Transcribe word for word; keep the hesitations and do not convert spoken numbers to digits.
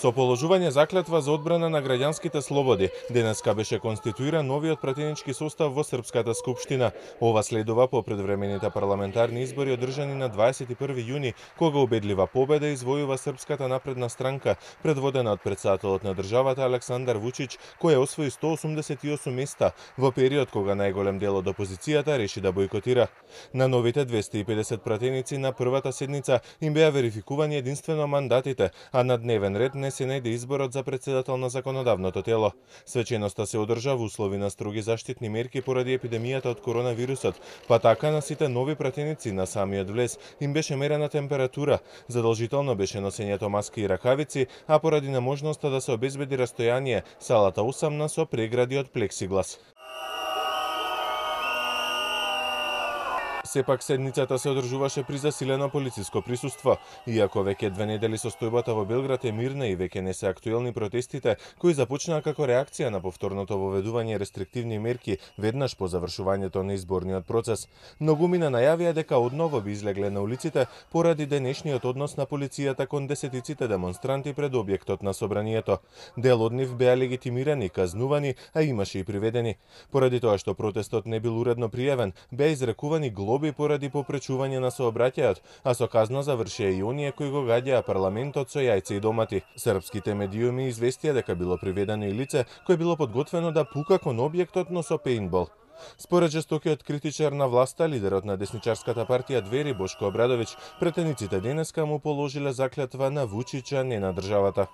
Со положување заклетва за одбрана на граѓанските слободи, денеска беше конституиран новиот пратенички состав во Српската скупштина. Ова следува по предвремените парламентарни избори одржани на дваесет и први јуни, кога убедлива победа извојува Српската напредна странка, предводена од претседателот на државата Александар Вучич, која освои сто осумдесет и осум места во период кога најголем дел од опозицијата реши да бойкотира. На новите двесте и педесет пратеници на првата седница им беа верификувани единствено мандатите, а на дневен ред не се најде изборот за председател на законодавното тело. Свеченоста се одржа во услови на строги заштитни мерки поради епидемијата од коронавирусот, па така на сите нови пратеници на самиот влез им беше мерена температура, задолжително беше носењето маски и ракавици, а поради неможноста да се обезбеди растојание, салата осамна со прегради од плексиглас. Сепак седницата се одржуваше при засилено полициско присуство. Иако веќе две недели состојбата во Белград е мирна и веќе не се актуелни протестите, кои започнаа како реакција на повторното воведување рестриктивни мерки веднаш по завршувањето на изборниот процес. Многумина најавија дека одново би излегле на улиците поради денешниот однос на полицијата кон десетиците демонстранти пред објектот на собранието. Дел од нив беа легитимирани, казнувани, а имаше и приведени. Поради тоа што протестот не бил уредно пријавен, беа изрекувани глоби поради попречување на сообраќајот, а со казна завршија и оние кои го гадјаа парламентот со јајца и домати. Српските медиуми известија дека било приведено и лице кое било подготвено да пука кон објектот, но со пејнтбол. Според жестокиот критичар на власта, лидерот на десничарската партија Двери Бошко Обрадовиќ, пратениците денеска му положиле заклетва на Вучича, не на државата.